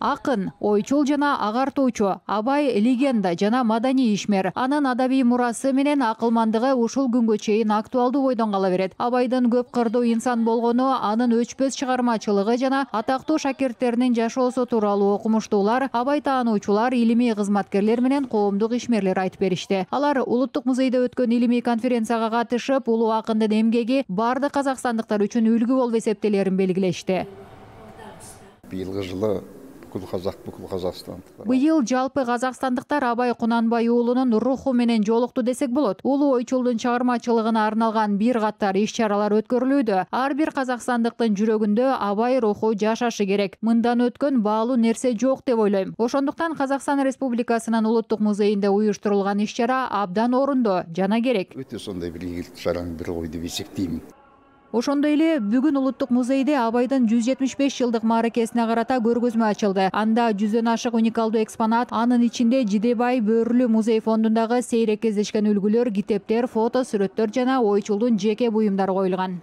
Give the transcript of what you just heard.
Акын, ойчул жана агартуучу, Абай легенда жана маданий ишмер. Анын адабий мурасы менен акылмандыгы ушул күнгө чейин актуалдуу бойдон кала берет. Абайдын көп кырдуу инсан болгону, анын өчпөс чыгармачылыгы жана атактуу шакирттеринин жашоосу тууралуу окумуштуулар, Абай таануучулар, илимий кызматкерлер менен коомдук ишмерлер айтып беришти. Алар Улуттук музейде өткөн илимий конференцияга катышып, улуу акындын эмгеги бардык казакстандыктар үчүн үлгү болуп эсептелерин белгилешти. Быйылгы жылы бүкүл Казакстан. Быйыл жалпы казакстандыктар Абай Кунанбай уулунун руху менен жолукту десек болот. Улуу ойчулдун чыгармачылыгына арналган бир катар иш-чаралар өткөрүлүүдө. Ар бир казакстандыктын жүрөгүндө Абай руху жашашы керек. Мындан өткөн баалуу нерсе жок деп ойлойм. Ошондуктан Казакстан Республикасынын Улуттук музейинде уюштурулган иш-чара абдан орундуу жана керек. Өтө сондай бир ийгиликтүү чаранын бири ой деп эсептейм. Ошондой эле бүгүн Улуттук музейде Абайдын 175 жылдык мааракесине карата көргөзмө ачылды. Анда 100дөн ашык уникалдуу экспонат, анын ичинде Жидебай Бөөрлүү музей фондундагы сейрек кездешкен үлгүлөр, китептер, фото, сүрөттөр жана ойчулдун жеке буюмдары коюлган.